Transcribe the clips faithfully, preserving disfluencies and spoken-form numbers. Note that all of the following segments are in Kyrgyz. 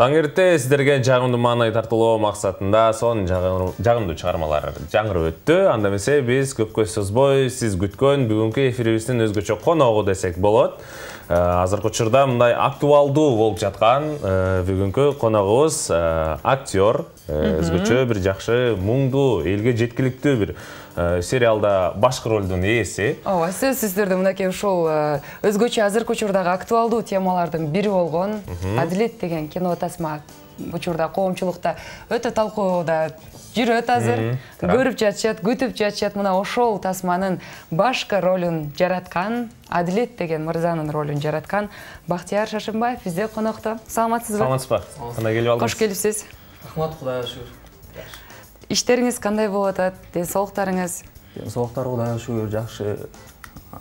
Таң эрте сиздерге жагымдуу маанай тартуулоо максатында сонун жагымдуу чыгармалар жаңырып өттү. Анда эмесе биз көпкө созбой сиз күткөн бүгүнкү эфирибиздин өзгөчө коногу десек болот. Азыркы учурда мындай актуалдуу болуп жаткан бүгүнкү коногубуз актер, өзгөчө бир жакшы муңдуу, элге жеткиликтүү бир сериалда башкы ролдун ээси. Ооба, сөзсүз түрдө мынакей ушул өзгөчө азыркы учурдагы актуалдуу темалардын бири болгон Адилет деген кино тасма учурда коомчулукта өтө талкууда жүрөт азыр. Көрүп жатышат, күтүп жатышат. Мына ошол тасманын башкы ролун жараткан, Адилет деген мырзанын ролун жараткан Бактияр Шашынбаев бизде конокто. Саламатсызбы? Саламатсызбы? Кандай келип алдыңыз? Кош келипсиз. Рахмат, Кудайга шүгүр. Иштериңиз кандай болуп атат? Ден соолуктарыңыз? Ден соолуктар Кудайга шүгүр жакшы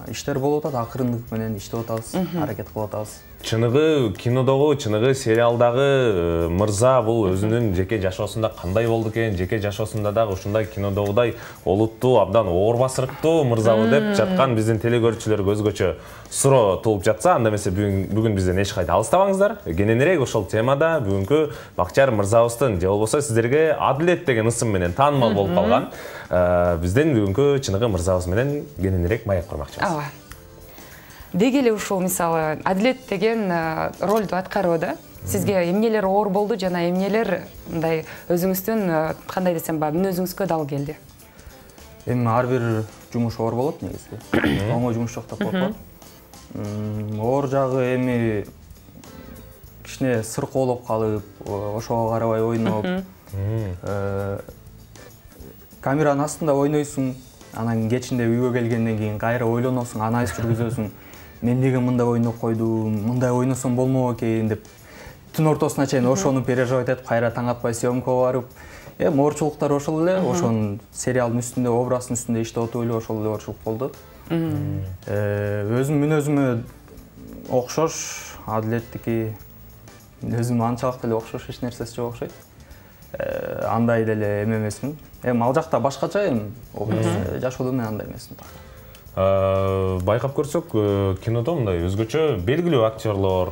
иштер болуп атат, акырындык менен иштеп атабыз, аракет кылып атабыз. Чыныгы кинодогу, чыныгы сериалдагы мырза бул өзүнүн жеке жашоосунда кандай болду экен, жеке жашоосунда дагы ушундай кинодогудай олуттуу, абдан оор басырыктуу мырзабы деп жаткан биздин телегөрүүчүлөргө өзгөчө суроо туулуп жатса, анда эмесе бүгүн бизден эч кайда алыстабаңыздар. Кененирээк ошол темада бүгүнкү Бактияр мырзабыздын же болбосо сиздерге Адилет деген ысым менен таанымал болуп калган биздин бүгүнкү чыныгы мырзабыз менен кененирээк маек курмакчыбыз. Ооба. Деги эле ушул мисалы Адилет деген ролду аткарууда сизге эмнелер оор болду жана эмнелер мындай өзүңүздүн кандай десем ба мүнөзүңүзгө дал келди? Эми ар бир жумуш оор болот негизи. Оңой жумуш жок деп коет. Оор жагы эми кичине сыркоолоп калып, ошого карабай ойноп, камеранын астында ойнойсуң, анан кечинде үйгө келгенден кийин кайра ойлоносуң, анализ жүргүзөсүң. Мен эмнеге мындай ойноп койдум, мындай ойносом болмок экен деп түн ортосуна чейин ошону переживать этип, кайра таң атпай съемкага барып, эми оорчулуктар ошол эле, ошонун сериалдын үстүндө, образдын үстүндө иштеп отуп эле ошол эле оорчулук болду. Өзүм мүнөзүмө окшош, Адилеттики өзүм анчалык деле окшош, эч нерсеси жок окшойт. Андай деле эме эмесмин. Эми ал жакта башкача эми образ, жашоодо мен андай эмесмин. Байкап көрсөк, кинодо мындай өзгөчө белгилүү актерлор,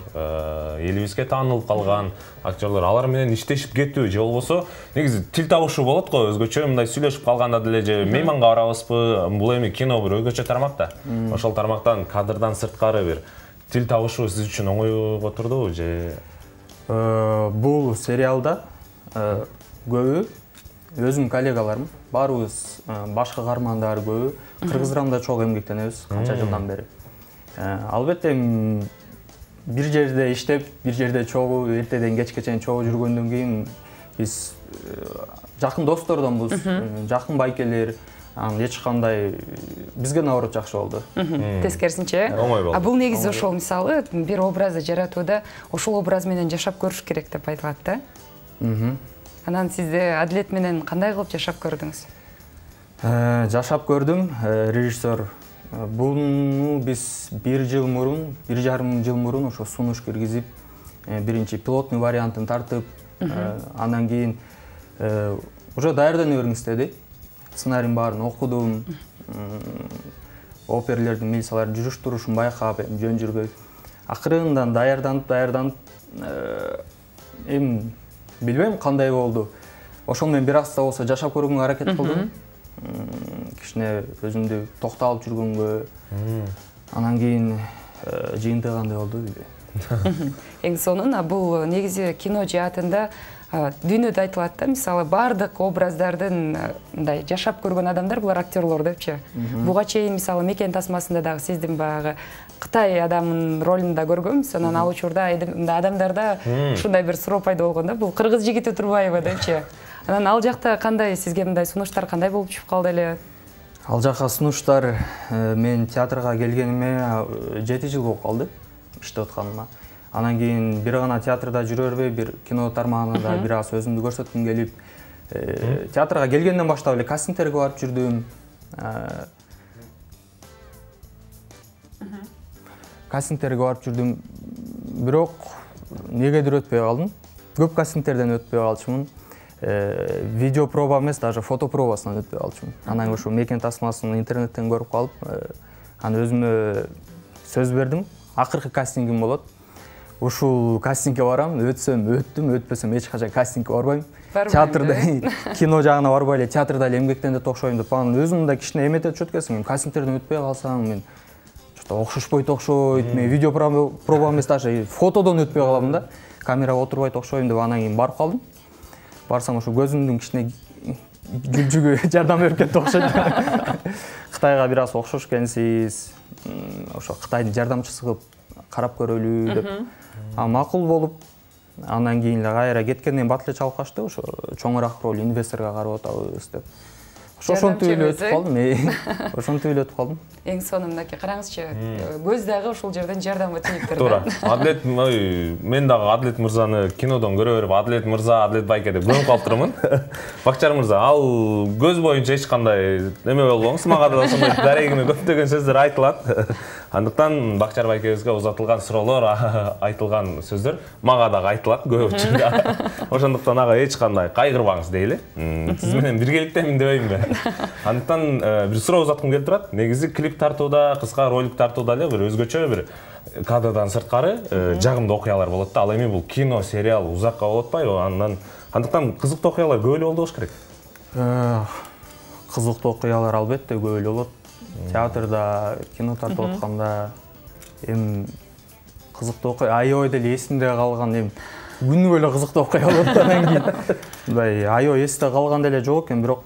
элибизге таанылып калган актерлор, алар менен иштешип кетүү же болбосо негизи тил табышуу болот го, өзгөчө мындай сүйлөшүп калганда деле же мейманга барабызбы, бул эми кино бир өзгөчө тармак да. Ошол тармактан кадрдан сырткары бир тил табышуу сиз үчүн оңойго турдубу же? Бул сериалда көбү өзүм коллегаларым, баарыбыз башкы каармандар көбү кыргыз драмада чогуу эмгектенебиз канча жылдан бери. Албетте бир жерде иштеп, бир жерде чогуу эртеден кечке чейин чогуу жүргөндөн кийин биз жакын достордонбуз, жакын байкелер, анан эч кандай бизге наоборот жакшы болду. Тескерисинче, оңой болду. А бул негизи ошол мисалы бир образды жаратууда ошол образ менен жашап көрүш керек деп айтылат да. Анан сизде Адилет менен кандай кылып жашап көрдүңүз? Жашап көрдүм. Режиссер буну биз бир жыл мурун, бир жарым жыл мурун ошо сунуш киргизип, биринчи пилотный вариантын тартып, андан кийин уже даярдана бериңиз деди. Сценарийдин баарын окудум. Оперлердин, милициялардын жүрүш турушун байкап, жөн жүрбөй. Акырындан даярданып, даярданып, эми билбейм кандай болду. Ошол менен бир аста болсо жашап көргөнгө аракет кылдым. Кичине өзүмдү токтолуп жүргөнгө. Анан кийин жыйынтыгы кандай болду билбейм. Эң сонун, бул негизи кино жаатында дүйнөдө айтылат да, мисалы бардык образдардын мындай жашап көргөн адамдар булар актерлор депчи. Буга чейин мисалы Мекен тасмасында дагы сиздин баягы Кытай адамынын ролунда көргөнбүз. Анан ал учурда адамдарда ушундай бир суроо пайда болгон да, бул кыргыз жигити турбайбы депчи. Анан ал жакта кандай сизге мындай сунуштар кандай болуп түшүп калды эле? Ал жакка сунуштар мен театрга келгениме жети жыл болуп калды иштеп атканыма. Анан кийин бир гана театрда жүрө бербей, бир кино тармагында бир аз өзүмдү көрсөткүм келип, театрга келгенден баштап эле кастингтерге барып жүрдүм. Кастингтерге барып жүрдүм, бирок негедир өтпөй калдым. Көп кастингтерден өтпөй калчумун. Видео проба эмес, даже фото пробасынан өтпөй калчумун. Анан ошо Мекен тасмасын интернеттен көрүп калып, анан өзүмө сөз бердим. Акыркы кастингим болот. ушул кастингге барам, өтсөм өттүм, өтпөсөм эч качан кастингге барбайм. Театрда, кино жагына барбай эле театрда эле эмгектенет окшойм деп, анан өзүм мындай кичине эметет чөткөсүң, кастингтерден өтпөй калсам, мен что-то окшошпойт окшойт, мен видео проба эмес, даже фотодон өтпөй калам да, камерага отурбайт окшойм деп, анан кийин барып калдым. Барсам ошо көзүмдүн кичине жүлжүгү жардам берип кетти окшойт. Кытайга бир аз окшош экенсиз, ошо Кытайдын жардамчысы кылып карап көрөлү деп. А макул болуп, андан кийин эле кайра кеткенден бат эле чалып качты, ошо чоңураак роль инвесторго карап атабыз деп. Ошентип эле өтүп калдым. Ошентип эле өтүп калдым. Эң соңу мынакей караңызчы, көз дагы ушул жерден жардамга тийиптир. Туура. Адлет, мен дагы Адлет мырзаны кинодон көрө берип, Адлет мырза, Адлет байке деп көрүп калыптырмын. Бакчар мырза, ал көз боюнча эч кандай эме болбоңуз, мага да ошондой дарегиме көптөгөн сөздөр айтылат. Андыктан Бакчар байкебизге узатылган суроолор, айтылган сөздөр мага дагы айтылат көп учурда. Ошондуктан ага эч кандай кайгырбаңыз дейли. Сиз менен биргеликтемин дебеймби? Андыктан бир суроо узаткым келип турат. Негизи клип тартууда, кыска ролик тартууда эле бир өзгөчө бир кадрдан сырткары жагымдуу окуялар болот да. Ал эми бул кино, сериал узакка болуп атпайбы? Андан андыктан кызыктуу окуялар көп эле болду болуш керек. Кызыктуу окуялар албетте көп эле болот. Театрда, кино тартып атканда эми кызыктуу окуя, аябай деле эсимде калган эми күнүгө эле кызыктуу окуя болот да. Анан кийин мындай аябай эсте калган деле жок экен, бирок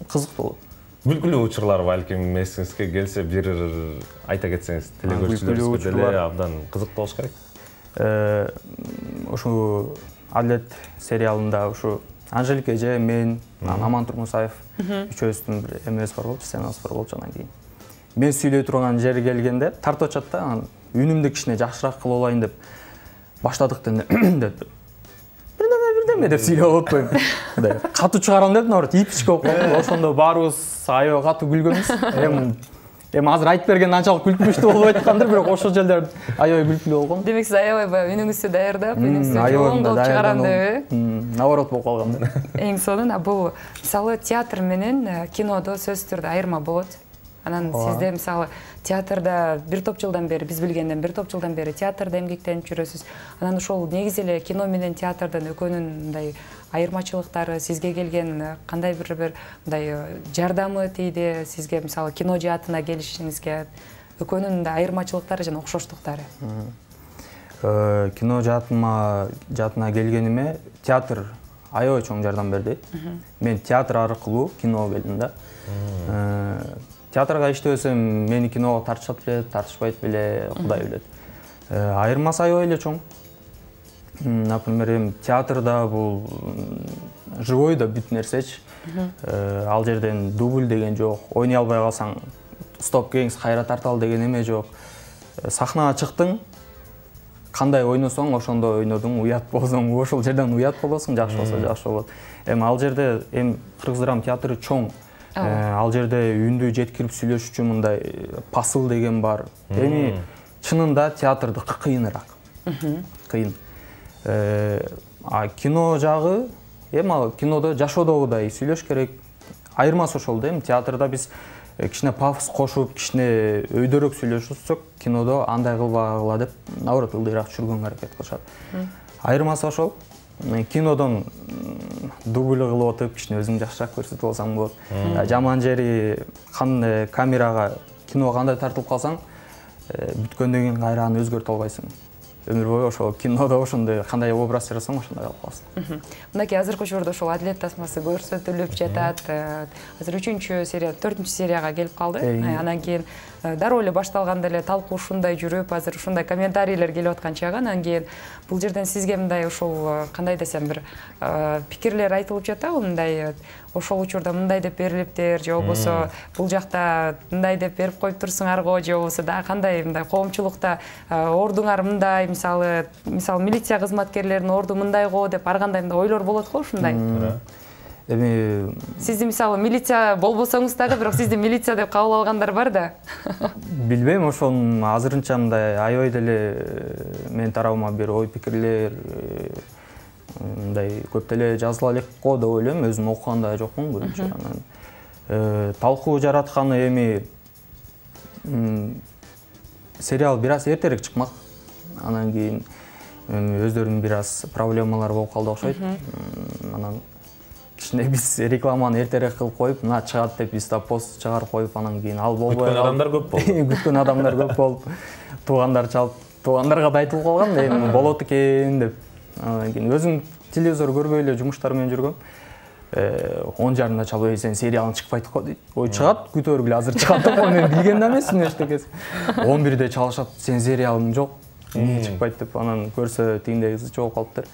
кызыктуу болот. Күлкүлүү учурлар балким эсиңизге келсе бир айта кетсеңиз, телекөрүүчүлөрүбүзгө деле абдан кызыктуу болуш керек. Ушу Адлет сериалында ушу Анжелика эже, мен, Аман Турмусаев үчөөбүздүн бир эмебиз бар болчу, сценабыз бар болчу. Анан кийин мен сүйлөй турган жери келгенде тартып атышат да, анан үнүмдү кичине жакшыраак кылып алайын деп баштадык деп бирдеме бирдеме деп сүйлөп атпайм. Мындай катуу чыгарам деп, наоборот, ипичке болуп калды. Ошондо баарыбыз аябай катуу күлгөнбүз. Эми Эми азыр айтып бергенде анчалык күлкүнүчтүү болбой аткандыр, бирок ошол жерлер аябай күлкүлүү болгон. Демек сиз аябай баягы үнүңүздү даярдап, үнүңүздү жоон кылып чыгарам деп, наоборот болуп калган да. Эң сонун бул мисалы театр менен кинодо сөзсүз түрдө айырма болот. Анан сизде мисалы театрда бир топ жылдан бери, биз билгенден бир топ жылдан бери театрда эмгектенип жүрөсүз. Анан ошол негизи эле кино менен театрдын экөөнүн мындай айырмачылыктары, сизге келген кандай бир бир мындай жардамы тийди, сизге мисалы кино жаатына келишиңизге экөөнүн мындай айырмачылыктары жана окшоштуктары? Кино жаатыма жаатына келгениме театр аябай чоң жардам берди. Мен театр аркылуу киного келдим да. Театрга иштебесем мени киного тартышат беле, тартышпайт беле, Кудай билет. Айырмасы аябай эле чоң. Например, эми театрда бул живой да бүт нерсечи. Ал жерден дубль деген жок. Ойной албай калсаң стоп кейиңиз кайра тарталы деген эме жок. Сахнага чыктың, кандай ойносоң ошондой ойнодуң, уят болсоң ошол жерден уят болосуң, жакшы болсо жакшы болот. Эми ал жерде эми Кыргыз драма театры чоң. Ал жерде үндү жеткирип сүйлөшүүчү мындай посыл деген бар. Эми чынында театрдыкы кыйыныраак. Кыйын. А кино жагы, эми ал кинодо жашоодогудай сүйлөш керек. Айырмасы ошол да, эми театрда биз кичине пафос кошуп, кичине өйдөрөөк сүйлөшсөк, кинодо андай кылбагыла деп, наоборот, ылдыйраак түшүргөнгө аракет кылышат. Айырмасы ошол. Кинодон дубль кылып отуп, кичине өзүң жакшыраак көрсөтүп алсаң болот. Жаман жери кандай камерага кино кандай тартылып калсаң, бүткөндөн кийин кайра аны өзгөртө албайсың. Өмүр бою ошол кинодо ошондой кандай образ жасасаң, ошондой калып каласың. Мынакей азыркы учурда ошол Адлет тасмасы көрсөтүлүп жатат. Азыр үчүнчү серия, төртүнчү серияга келип калды. Анан кийин дароо эле башталганда эле талкуу ушундай жүрүп, азыр ушундай комментарийлер келип аткан чагы. Анан кийин бул жерден сизге мындай ошол кандай десем бир пикирлер айтылып жатабы, мындай ошол учурда мындай деп берилиптир, же болбосо бул жакта мындай деп берип коюп турсуңарго, же болбосо да кандай мындай коомчулукта ордуңар мындай, мисалы, мисалы милиция кызматкерлеринин орду мындай го деп ар кандай ойлор болот го ушундай. Эми сизди мисалы милиция болбосоңуз дагы, бирок сизди милиция деп кабыл алгандар бар да. Билбейм, ошол азырынча мындай аябай деле менин тарабыма бир ой пикирлер мындай көп деле жазыла элек го деп ойлойм, өзүм окуган да жокмун көбүнчө. Анан талкуу жаратканы эми сериал бир аз эртерээк чыкмак. Анан кийин өздөрүнүн бир аз проблемалары болуп калды окшойт. Анан кичине биз рекламаны эртерээк кылып коюп, мына чыгат деп биз да пост чыгарып коюп, анан кийин ал болбой күткөн адамдар көп болду. Күткөн адамдар көп болуп, туугандар чалып, туугандарга да айтылып калган, эми болот экен деп. Анан кийин өзүм телевизор көрбөй эле жумуштар менен жүргөм. он жарымда чалып, сен сериалың чыкпайт го дейт. Ой, чыгат, күтө бергиле, азыр чыгат деп, мен билген да эмесмин эчтекеси. он бирде чалышат, сен сериалың жок, эмне чыкпайт деп, анан көрсө тигиндей кызычы болуп калыптыр.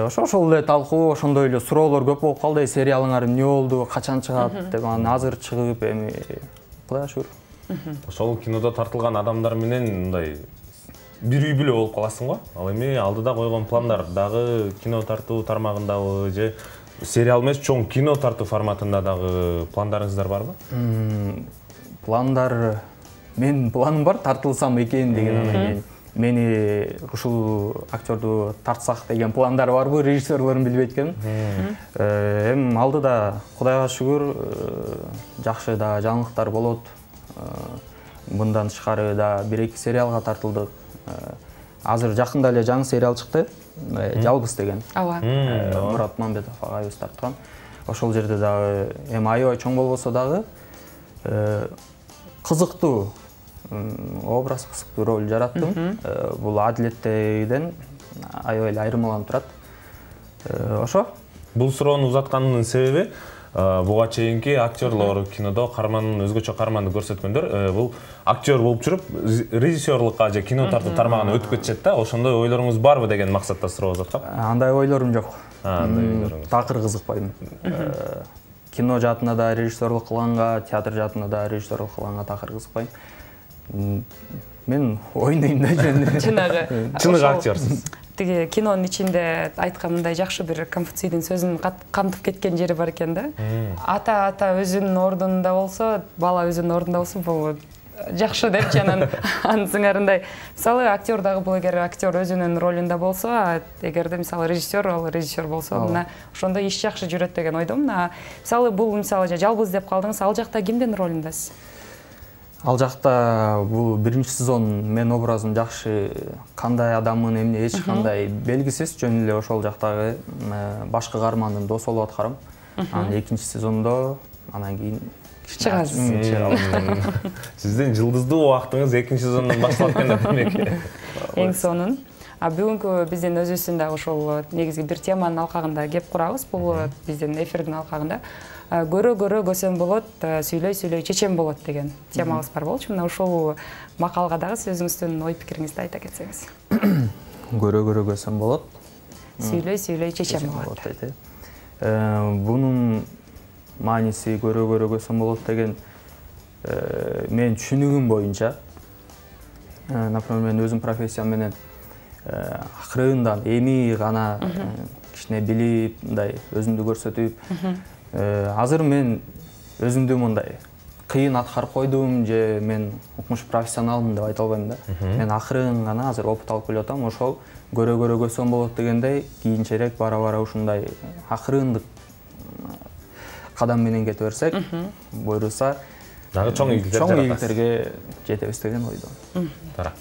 Ошо ошол эле талкуу, ошондой эле суроолор көп болуп калды. Сериалыңар эмне болду, качан чыгат деп, анан азыр чыгып, эми Кудайга шүгүр. Ошол кинодо тартылган адамдар менен мындай бир үй бүлө болуп каласың го. Ал эми алдыда койгон пландар дагы кино тартуу тармагындабы же сериал эмес, чоң кино тартуу форматында дагы пландарыңыздар барбы? Пландар, мен планым бар, тартылсам экен деген, анан кийин мени ушул актерду тартсак деген пландар барбы, режиссерлорун билбейт экенмин. Эми алдыда Кудайга шүгүр жакшы да жаңылыктар болот. Мындан тышкары да бир эки сериалга тартылдык. Азыр жакында эле жаңы сериал чыкты, Жалгыз деген. Ооба. Мурат Мамбетов агайыбыз тарткан. Ошол жерде дагы эми аябай чоң болбосо дагы кызыктуу образ, кызыктуу роль жараттым. Бул Адилеттейден аябай эле айырмаланып турат. Ошо. Бул суроону узатканымдын себеби буга чейинки актерлор кинодо кармандын өзгөчө карманды көрсөткөндөр бул актер болуп жүрүп режиссерлукка же кино тартуу тармагына өтүп кетишет да, ошондой ойлоруңуз барбы деген максатта суроо узаткам. Андай ойлорум жок. Андай ойлоруңуз. Такыр кызыкпайм. Кино жаатында да режиссерлук кылганга, театр жаатында да режиссерлук кылганга такыр кызыкпайм. Мен ойнойм да жөн. Чынагы. Чыныгы актерсиз. Тиги кинонун ичинде айткан мындай жакшы бир Конфуцийдин сөзүн камтып кеткен жери бар экен да. Ата ата өзүнүн ордунда болсо, бала өзүнүн ордунда болсо, бул жакшы депчи, анан анын сыңарындай. Мисалы актер дагы бул эгер актер өзүнүн ролунда болсо, эгерде мисалы режиссер, ал режиссер болсо, мына ошондо иш жакшы жүрөт деген ойдомун. Мисалы бул мисалы Жалгыз деп калдыңыз, ал жакта кимдин ролундасыз? Ал жакта бул биринчи сезон мен образым жакшы, кандай адаммын, эмне эч кандай белгисиз, жөн эле ошол жактагы башкы каармандын досу болуп аткарам. Анан экинчи сезондо анан кийин чыгасыз. Сиздин жылдыздуу убактыңыз экинчи сезондон башталат экен да, демек. Эң сонун. А бүгүнкү биздин өзүбүздүн да ошол негизги бир теманын алкагында кеп курабыз. Бул биздин эфирдин алкагында көрө-көрө көсөм болот, сүйлөй-сүйлөй чечен болот деген темабыз бар болчу. Мына ушул макалга дагы сиз өзүңүздүн ой пикириңизди айта кетсеңиз. Көрө-көрө көсөм болот, сүйлөй-сүйлөй чечен болот дейт. Бунун мааниси көрө-көрө көсөм болот деген мен түшүнүгүм боюнча, например, мен өзүм профессиям менен акырындан эми гана кичине билип, мындай өзүмдү көрсөтүп, азыр мен өзүмдү мындай кыйын аткарып койдум же мен укмуш профессионалмын деп айта албайм да. Мен акырын гана азыр опыт алып келип атам. Ошол көрө-көрө көсөм болот дегендей, кийинчерээк бара-бара ушундай акырындык кадам менен кете берсек, буйруса дагы чоң ийгиликтерге жетебиз деген ойдомун.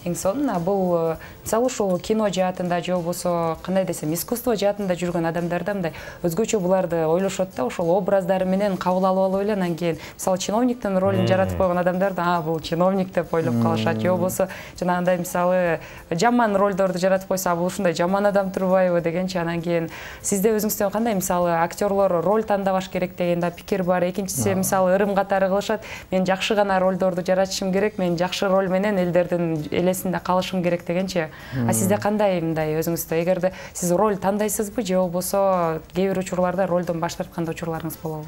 Эң сонун, бул мисалы ушул кино жаатында же болбосо кандай десем, искусство жаатында жүргөн адамдарда мындай өзгөчө буларды ойлошот да, ошол образдары менен кабыл алып алып эле, анан кийин мисалы чиновниктин ролун жаратып койгон адамдар да, а бул чиновник деп ойлоп калышат, же болбосо жанагындай мисалы жаман ролдорду жаратып койсо, бул ушундай жаман адам турбайбы дегенчи. Анан кийин сизде өзүңүздөн кандай мисалы актерлор роль тандабаш керек деген да пикир бар. Экинчиси мисалы ырым катары кылышат, мен жакшы гана ролдорду жаратышым керек, мен жакшы роль менен элдердин элесинде калышым керек дегенчи. А сизде кандай мындай өзүңүздө, эгерде сиз роль тандайсызбы же болбосо кээ бир учурларда ролдон баш тарткан учурларыңыз болобу?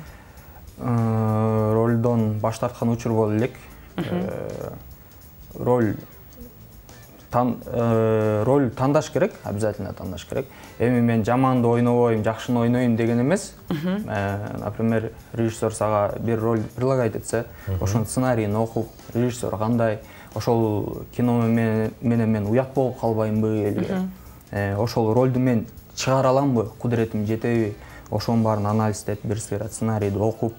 Ролдон баш тарткан учур боло элек. Роль роль тандаш керек, обязательно тандаш керек. Эми мен жаманды ойнобойм, жакшыны ойнойм деген эмес. Например, режиссер сага бир роль предлагать этсе, ошонун сценарийин окуп, режиссер кандай, ошол кино менен мен уят болуп калбаймбы эле, ошол ролду мен чыгара аламбы, кудуретим жетеби, ошонун баарын анализдеп, бир сыйра сценарийди окуп,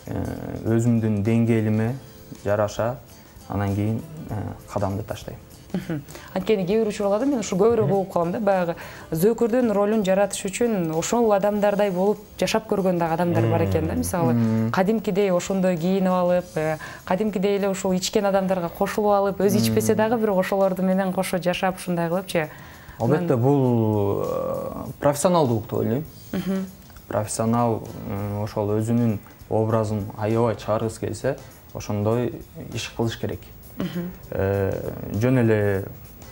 өзүмдүн деңгээлиме жараша анан кийин кадамды таштайм. Анткени кээ бир учурларда мен ушу көбүрөөк угуп калам да, баягы зөөкүрдүн ролун жаратыш үчүн ошол адамдардай болуп жашап көргөн дагы адамдар бар экен да. Мисалы, кадимкидей ошондой кийинип алып, кадимкидей эле ушул ичкен адамдарга кошулуп алып, өзү ичпесе дагы бирок ошолорду менен кошо жашап ушундай кылыпчы. Албетте, бул профессионалдуулук деп ойлойм. Профессионал ошол өзүнүн образын аябай чыгаргысы келсе, ошондой иш кылыш керек. Жөн эле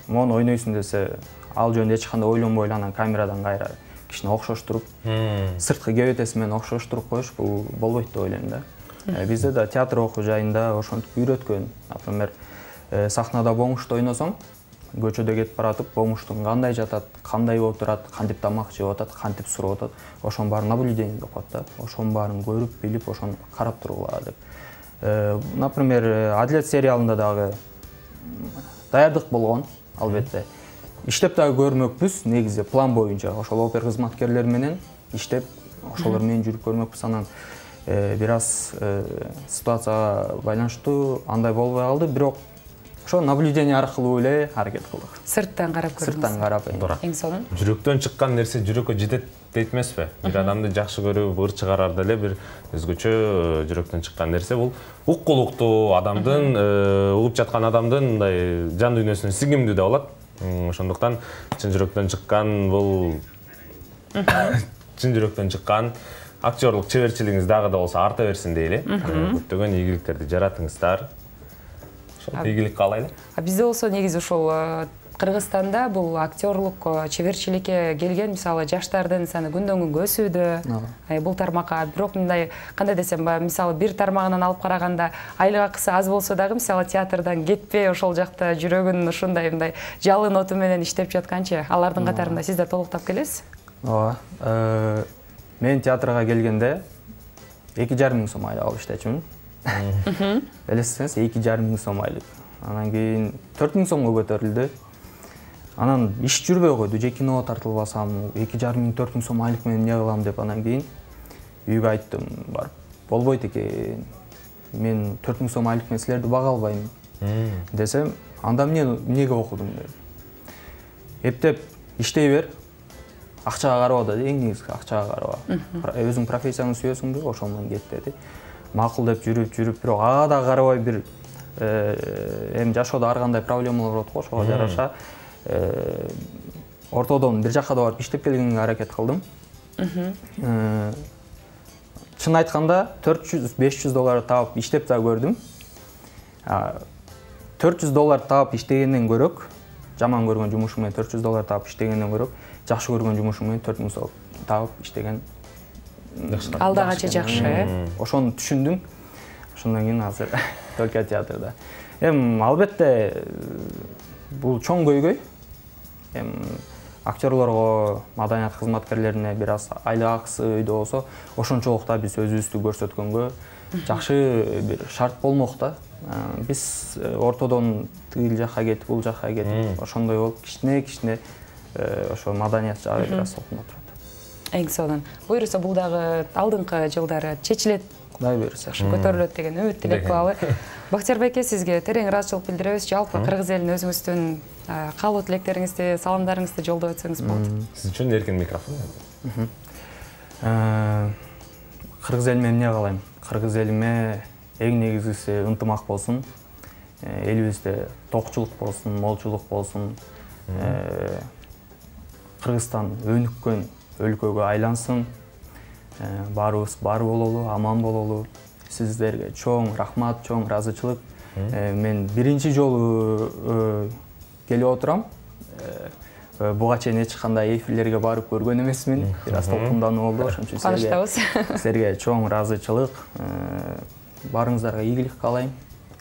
мону ойнойсуң десе, ал жөнүндө эч кандай ойлонбой эле анан камерадан кайра кичине окшоштуруп, сырткы кебетеси менен окшоштуруп коюш бул болбойт деп ойлойм да. Бизде да театр окуу жайында ошентип үйрөткөн. Например, сахнада бомушта ойносоң, көчөдө кетип баратып, бомуштун кандай жатат, кандай отурат, кантип тамак жеп атат, кантип сурап атат, ошонун баарын наблюдение деп коет да. Ошонун баарын көрүп, билип, ошону карап тургула деп. Например, Адилет сериалында дагы даярдык болгон, албетте. Иштеп дагы көрмөкпүз, негизи план боюнча ошол опер кызматкерлери менен иштеп, ошолор менен жүрүп көрмөкпүз. Анан бир аз ситуацияга байланыштуу андай болбой калды, бирок ошо наблюдение аркылуу эле аракет кылдык. Сырттан карап көрдүңүз. Сырттан карап. Эң сонун. Жүрөктөн чыккан нерсе жүрөккө жетет дейт эмеспи? Бир адамды жакшы көрүп, ыр чыгарарда эле бир өзгөчө жүрөктөн чыккан нерсе бул уккулуктуу адамдын, угуп жаткан адамдын мындай жан дүйнөсүнө сиңимдүү да болот. Ошондуктан чын жүрөктөн чыккан бул чын жүрөктөн чыккан актерлук чеберчилигиңиз дагы да болсо арта берсин дейли. Көптөгөн ийгиликтерди жаратыңыздар. Ийгилик каалайлы. Бизде болсо негизи ошол Кыргызстанда бул актерлук чеберчиликке келген, мисалы, жаштардын саны күндөн күнгө өсүүдө. Бул тармакка бирок мындай кандай десем, мисалы, бир тармагынан алып караганда айлык акысы аз болсо дагы, мисалы, театрдан кетпей ошол жакта жүрөгүн ушундай мындай жалын оту менен иштеп жатканчы, алардын катарында сиз да толуктап келесиз? Ооба. Мен театрга келгенде эки жарым миң сом айлык алып иштечүмүн. Элестеңиз, эки жарым миң сом айлык. Анан кийин төрт миң сомго көтөрүлдү. Анан иш жүрбөй койду, же киного тартылбасам, эки жарым миң төрт миң сом айлык менен эмне кылам деп анан кийин үйгө айттым, барып, болбойт экен. Мен төрт миң сом айлык менен силерди бага албайм десем, анда эмне эмнеге окудуң деп. Эптеп иштей бер. Акчага карабада, эң негизги акчага караба. Өзүң профессияңды сүйөсүңбү, ошол менен кет деди. Макул деп жүрүп, жүрүп, бирок ага да карабай бир эми жашоодо ар кандай проблемалар болот го, ошого жараша ортодон бир жакка да барып иштеп келгенге аракет кылдым. Чын айтканда төрт жүз беш жүз доллар таап иштеп да көрдүм. төрт жүз доллар таап иштегенден көрөк, жаман көргөн жумушум менен төрт жүз доллар таап иштегенден көрөк, жакшы көргөн жумушум менен төрт миң сом таап иштеген алдагача жакшы. Ошону түшүндүм. Ошондон кийин азыр только театрда. Эми албетте бул чоң көйгөй. Эми актерлорго, маданият кызматкерлерине бир аз айлык акысы өйдө болсо, ошончолук да биз өзүбүздү көрсөткөнгө жакшы бир шарт болмок да. Биз ортодон тигил жакка кетип, бул жакка кетип, ошондой болуп кичине-кичине ошо маданият жагы бир аз сокуна турат. Эң сонун. Буюрса бул дагы алдыңкы жылдары чечилет. Кудай буйруса. Көтөрүлөт деген үмүт тилек кылалы. Бактияр байке, сизге терең ыраазычылык билдиребиз. Жалпы кыргыз элине өзүңүздүн каалоо тилектериңизди, саламдарыңызды жолдоп өтсөңүз болот. Сиз үчүн эркин микрофон. Кыргыз элиме эмне каалайм? Кыргыз элиме эң негизгиси ынтымак болсун. Элибизде токчулук болсун, молчулук болсун. Кыргызстан өнүккөн өлкөгө айлансын. Баарыбыз бар бололу, аман бололу. Сиздерге чоң рахмат, чоң ыраазычылык. Мен биринчи жолу келип отурам. Буга чейин эч кандай эфирлерге барып көргөн эмесмин. Бир аз толкундануу болду, ошон үчүн сизге силерге чоң ыраазычылык. Баарыңыздарга ийгилик каалайм.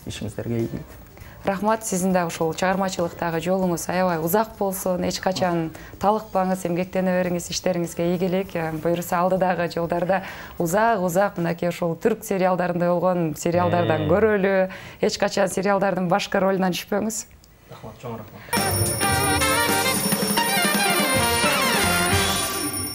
Ишиңиздерге ийгилик. Рахмат, сиздин да ушул чыгармачылыктагы жолуңуз аябай узак болсун, эч качан талыкпаңыз, эмгектене бериңиз, иштериңизге ийгилик. Буюрса алдыдагы жолдордо узак-узак мынакей ушул түрк сериалдарында болгон сериалдардан көрөлү, эч качан сериалдардын башкы ролунан түшпөңүз. Рахмат, чоң рахмат.